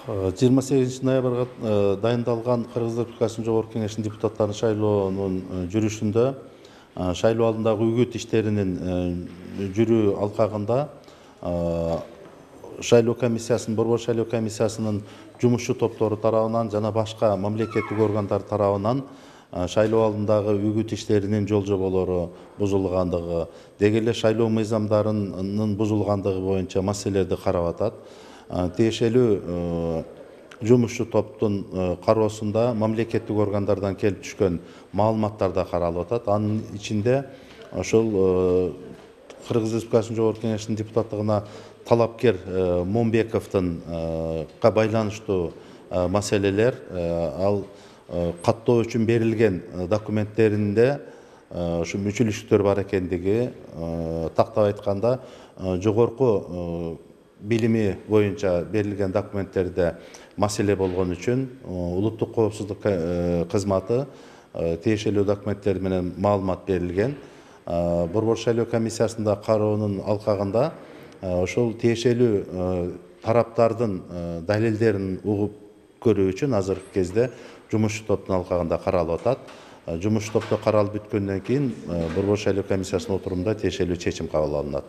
28 ноябрга дайындалган Кыргыз Республикасынын Жогорку Кеңешинин депутаттарын шайлоонун жүрүшүндө шайлоо алдындагы үгүт иштеринин жүрүү алкагында шайлоо комиссиясынын, Борбор шайлоо комиссиясынын жумушчу топтору тарабынан жана башка мамлекеттик органдар тарабынан шайлоо алдындагы үгүт иштеринин жол-жоболору бузулгандыгы, деги эле шайлоо мыйзамдарынын бузулгандыгы боюнча маселелерди карап атат. Тиешелүү жумушчу топтун кароосунда мамлекеттик органдардан келип түшкөн маалыматтар да каралып атат. Анын ичинде ошол Кыргыз Республикасынын Жогорку Кеңешинин депутаттыгына талапкер Момбековдун байланыштуу маселелер, ал каттоо үчүн берилген документтеринде ушу мүчүлүштүктөр бар экендиги, тактап айтканда жогорку билими боюнча берилген документтерде маселе болгон үчүн улуттук коопсуздук кызматы тиешелүү документтер менен маалымат берилген. Борбор шайлоо комиссиясында кароонун алкагында ошол тиешелүү тараптардын далилдерин угуп көрүү үчүн азыркы кезде жумушчу топтун алкагында каралып атат. Жумушчу топто каралып бүткөндөн кийин Борбор шайлоо комиссиясынын отурумунда тиешелүү чечим кабыл алынат.